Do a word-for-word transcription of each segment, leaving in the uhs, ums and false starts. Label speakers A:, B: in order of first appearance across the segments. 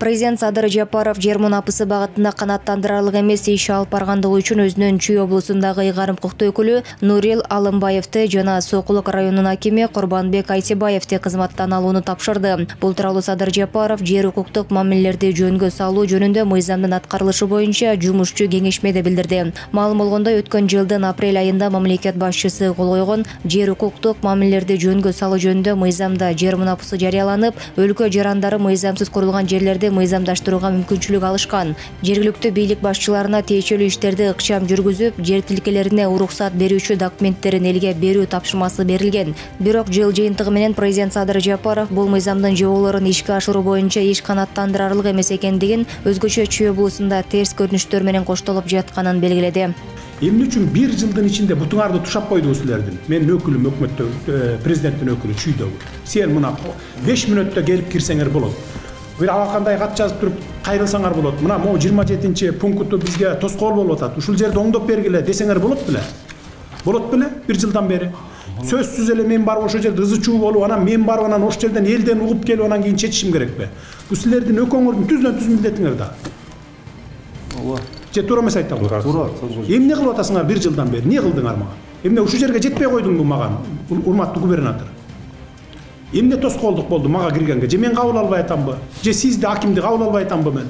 A: Президент Садыр Жапаров жер мунапысы багытында канааттандырарлык эмес иш алып баргандыгы үчүн өзүнүн Чүй облусундагы ыйгарым укуктуу өкүлү Нурил Алымбаевди жана Сокулук районунун акими Курбанбек Айтибаевди кызматтан алууну тапшырды. Бул тууралуу Садыр Жапаров жер укуктук мамилелерди жөнгө салуу жөнүндө мыйзамдын аткарылышы боюнча жумушчу кеңешмеде билдирди. Маалым болгондой, өткөн жылдын апрель айында мамлекет башчысы кол койгон жер укуктук мамилелерди жөнгө салуу жөнүндө мыйзамда жер мунапысы жарыяланып, өлкө жарандары мыйзамсыз курулган жерлерди мыйзамдаштырууга мүмкүнчүлүк алышкан. Жергиликтүү бийлик башчыларына тиешелүү иштерди ыкчам жүргүзүп, жер тилкелерине уруксат берүүчү документтерин элге берүү тапшырмасы берилген. Бирок жыл жыйынтыгы менен президент Садыр Жапаров бул мыйзамдын жоболорун ишке ашыруу боюнча иш канааттандырарлык эмес экендигин, өзгөчө Чүй облусунда терс көрүнүштөр менен коштолуп жатканын белгиледи.
B: Эмне үчүн бир жылдын ичинде бутуңарды тушап койду силердин? Менин өкүлүм өкмөттө, президенттин өкүлү Чүйдөгү. Сен мына беш мүнөттө келип кирсеңер болот. Бир алакандай кат жазып туруп кайрылсаңар болот. Мына могу жыйырма жетинчи пункту бизге тоскоол болуп атат. Ушул жерди оңдоп бергиле десеңер болот беле? Болот беле? Бир жылдан бери. Сөзсүз эле мен барып ошол жерде ызы чуу болуп, анан мен барып анан ошол жерден элден угуп келип анан кийин чечишим керекпи? Бул силердин экөөңөрдүн түздөн түз милдетиңер да. Ооба. Же туура эмес айтам? Туура. Эмне кылып атасыңар бир жылдан бери? Эмне кылдыңар мага? Эмне ушул жерге жетпей койдуңбу мага, урматтуу губернатор? Эмне тоскоолдук болду мага киргенге? Же мен кабыл албай атамбы? Же сизди акимди кабыл албай атамбы мен?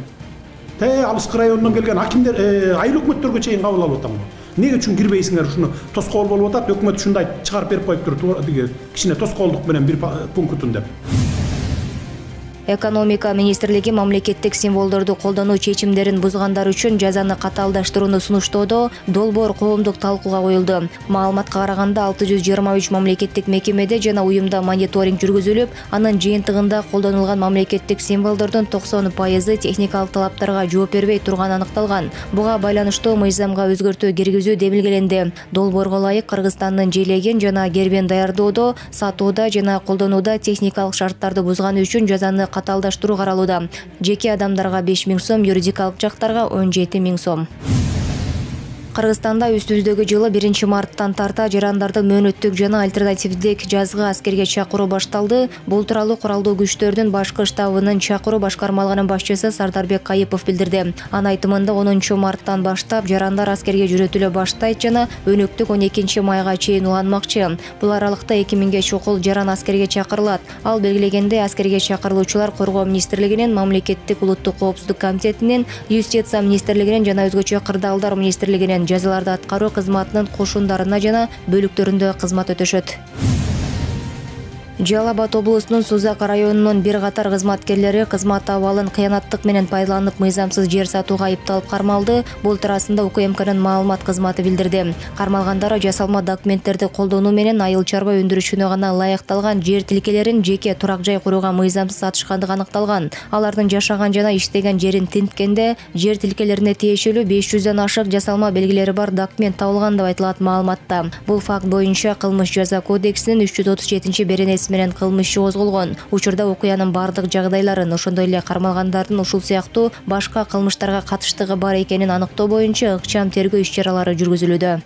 B: Те алыскы районунан келген акимдер, айыл өкмөттөргө чейин кабыл алып атамбы? Эмне үчүн кирбейсиңер? Ушуну тоскоол болуп атат, өкмөт ушундай чыгарып берип коюптур, кичине тоскоолдук менен бир пунктун деп.
A: Экономика министрлиги мамлекеттик символдорду колдонуу чечимдерин бузгандар үчүн жазаны катаалдаштырууну сунуштоодо долбоор коомдук талкууга коюлду. Маалыматка караганда алты жүз жыйырма үч мамлекеттик мекемеде жана уюмда мониторинг жүргүзүлүп, анын жыйынтыгында колдонулган мамлекеттик символдордун токсон пайызы техникалык талаптарга жооп бербей турганы аныкталган. Буга байланыштуу мыйзамга өзгөртүү киргизүү белгиленди. Долбоорго ылайык Кыргызстандын желегин жана гербин даярдоодо, сатууда жана колдонууда техникалык шарттарды бузганы үчүн жазаны катаалдаштыруу каралууда. Жеке адамдарга беш миң сом, юридикалык жактарга он жети миң сом. Кыргызстанда үстүбүздөгү жылы биринчи марттан тарта жарандардын мөөнөттүк жана альтернативдик жазгы аскерге чакыруу башталды. Бул тууралуу куралдуу күчтөрдүн башкы штабынын чакыруу башкармалыгынын башчысы Сардарбек Кайыпов билдирди. Анын айтымында онунчу марттан баштап жарандар аскерге жүрөтүлө баштайт жана өнөктүк он экинчи майга чейин уланмакчы. Бул аралыкта эки миңге чукул жаран аскерге чакырылат. Ал белгилегендей, аскерге чакырылуучулар Коргоо министрлигинин, Мамлекеттик улуттук коопсуздук комитетинин, Юстиция министрлигинин жана өзгөчө кырдаалдар министрлигинин жазаларды аткаруу кызматынын кошундарына жана бөлүктөрүндө кызмат өтөшөт. Жалал Абад облусунун Сузак районунун бир катар кызматкерлери кызмат абалын кыянаттык менен пайдаланып мыйзамсыз жер сатууга айыпталып кармалды. Бул туурасында УКМКнын маалымат кызматы билдирди. Кармалгандар жасалма документтерди колдонуу менен айыл чарба өндүрүшүнө гана ылайыкталган жер тилкелерин жеке турак жай курууга мыйзамсыз сатышкандыгы аныкталган. Алардын жашаган жана иштеген жерин тинткенде жер тилкелерине тиешелүү беш жүздөн ашык жасалма белгилери бар документ табылган деп айтылат маалыматта. Бул факт боюнча Кылмыш жаза кодексинин үч жүз отуз жетинчи беренеси менен кылмыш иши козголгон. Учурда окуянын бардык жагдайларын, ошондой эле кармалгандардын ушул сыяктуу башка кылмыштарга катыштыгы бар экенин аныктоо боюнча ыкчам тергөө иш-чаралары жүргүзүлүүдө.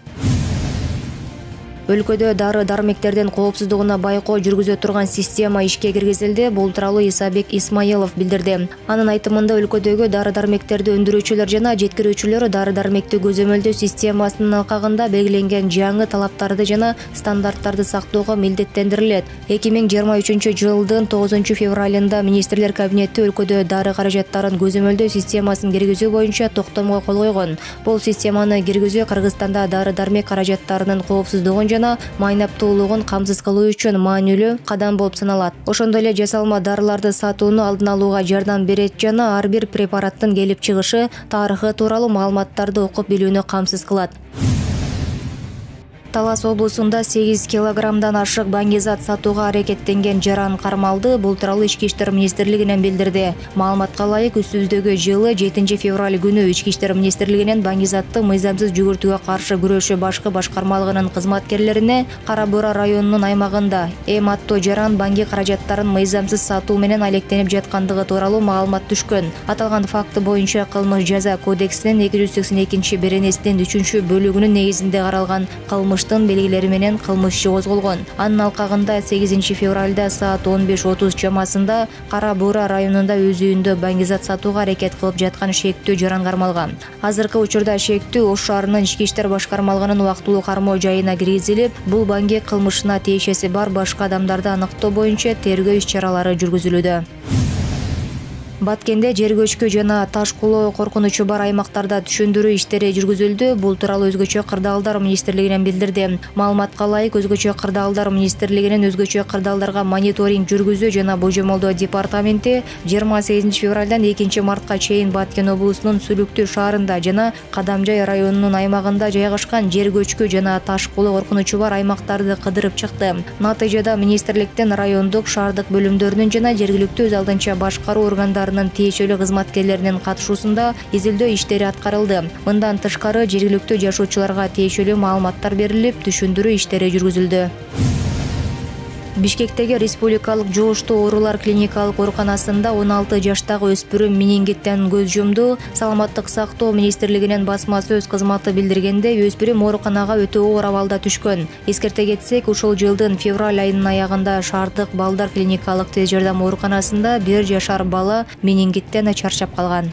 A: Өлкөдө дары-дармектердин коопсуздугуна байкоо жүргүзө турган система ишке киргизилди. Бул тууралуу Исабек Исмаилов билдирди. Анын айтымында өлкөдөгү дары-дармектерди өндүрүүчүлөр жана жеткирүүчүлөр дары-дармекти көзөмөлдөө системасынын алкагында белгиленген жаңы талаптарды жана стандарттарды сактоого милдеттендирилет. эки миң жыйырма үчүнчү жылдын тогузунчу февралында министрлер кабинети өлкөдө дары каражаттарын көзөмөлдөө системасын киргизүү боюнча токтомго кол койгон. Бул системаны киргизүү Кыргызстанда дары-дармек каражаттарынын коопсуздугун жана майнаптуулугун камсыз кылуу үчүн маанилүү кадам болуп саналат. Ошондой эле жасалма дарыларды сатууну алдын алууга жардам берет жана ар бир препараттын келип чыгышы, тарыхы тууралуу маалыматтарды окуп билүүнү камсыз кылат. Талас облусунда сегиз килограммдан ашык баңгизат сатууга аракеттенген жаран кармалды. Бул тууралуу Ички иштер министрлигинен билдирди. Маалыматка ылайык, үстүбүздөгү жылы жетинчи февраль күнү Ички иштер министрлигинен баңгизатты мыйзамсыз жүгүртүүгө каршы күрөшүү башкы башкармалыгынын кызматкерлерине Кара Бура районунун аймагында эм аттуу жаран баңги каражаттарын мыйзамсыз сатуу менен алектенип жаткандыгы тууралуу маалымат түшкөн. Аталган факты боюнча Кылмыш жаза кодексинин эки жүз сексен экинчи беренесинин үчүнчү бөлүгүнүн негизинде каралган кылмыш кылмыштын белгилери менен кылмыш иши козголгон. Анын алкагында сегизинчи февралда саат он беш отуз чамасында Кара Буура районунда өз үйүндө баңгизат сатууга аракет кылып жаткан шектүү жаран кармалган. Азыркы учурда шектүү Ош шаарынын ички иштер башкармалыгынын убактылуу кармоо жайына киргизилип, бул баңги кылмышына тиешеси бар башка адамдарды аныктоо боюнча тергөө иш-чаралары жүргүзүлүүдө. Баткенде жер көчкү жана таш кулоо коркунучу бар аймактарда түшүндүрүү иштери жүргүзүлдү. Бул тууралуу Өзгөчө кырдаалдар министрлигинен билдирди. Маалыматка ылайык, Өзгөчө кырдаалдар министрлигинин өзгөчө кырдаалдарга мониторинг жүргүзүү жана божомолдоо департаменти жыйырма сегизинчи февралдан экинчи мартка чейин Баткен облусунун Сүлүктүү шаарында жана Кадамжай районунун аймагында жайгашкан жер көчкү жана таш кулоо коркунучу бар аймактарды кыдырып чыкты. Натыйжада министрликтин райондук, шаардык бөлүмдөрүнүн жана жергиликтүү өз алдынча башкаруу органдарынын тиешелүү кызматкерлеринин катышуусунда изилдөө иштери аткарылды. Мындан тышкары жергиликтүү жашоочуларга тиешелүү маалыматтар берилип, түшүндүрүү иштери жүргүзүлдү. Бишкектеги Республикалык жугуштуу оорулар клиникалык ооруканасында он алты жаштагы өспүрүм менингиттен көз жумду. Саламаттык сактоо министрлигинин басма сөз кызматы билдиргенде, өспүрүм ооруканага өтө оор абалда түшкөн. Эскерте кетсек, ушул жылдын февраль айынын аягында шаардык балдар клиникалык тез жардам ооруканасында бир жашар бала менингиттен чарчап калган.